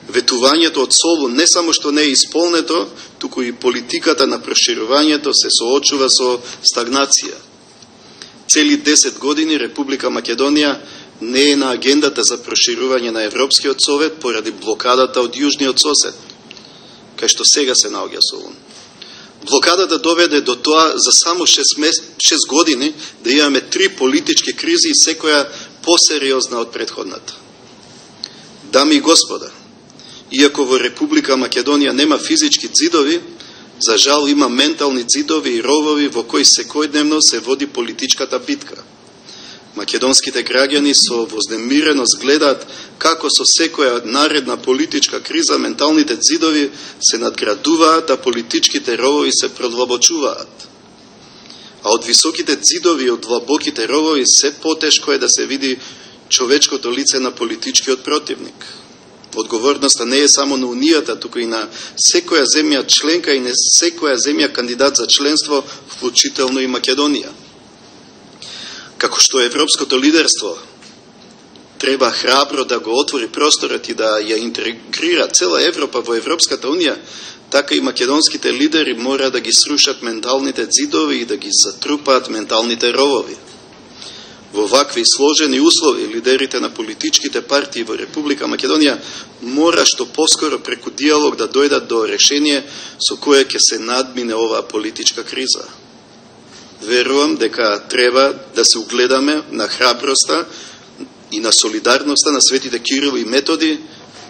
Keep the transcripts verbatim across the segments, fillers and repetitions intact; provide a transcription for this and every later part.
Ветувањето од Солун не само што не е исполнето, туку и политиката на проширувањето се соочува со стагнација. Цели десет години Република Македонија не е на агендата за проширување на Европскиот совет поради блокадата од јужниот сосед, кај што сега се наоѓа Солун. Блокадата доведе до тоа за само шест години да имаме три политички кризи и секоја посериозна од претходната. Дами и господа, иако во Република Македонија нема физички ѕидови, за жал има ментални ѕидови и ровови во кои секојдневно се води политичката битка. Македонските граѓани со вознемиреност гледаат како со секоја наредна политичка криза менталните ѕидови се надградуваат, а политичките ровови се продлабочуваат. А од високите ѕидови и од длабоките ровови се потешко е да се види човечкото лице на политичкиот противник. Одговорноста не е само на Унијата, туку и на секоја земја членка и на секоја земја кандидат за членство, вклучително и Македонија. Како што европското лидерство треба храбро да го отвори просторот и да ја интегрира цела Европа во Европската Унија, така и македонските лидери мора да ги срушат менталните ѕидови и да ги затрупаат менталните ровови. Во вакви сложени услови, лидерите на политичките партии во Република Македонија мора што поскоро преку диалог да дојдат до решение со кое ќе се надмине оваа политичка криза. Верувам дека треба да се угледаме на храброста и на солидарноста на светите Кирил и Методи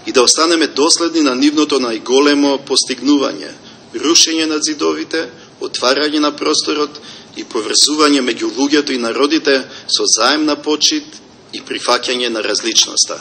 и да останеме доследни на нивното најголемо постигнување, рушење на ѕидовите, отварање на просторот и поврзување меѓу луѓето и народите со заемна почит и прифаќање на различноста.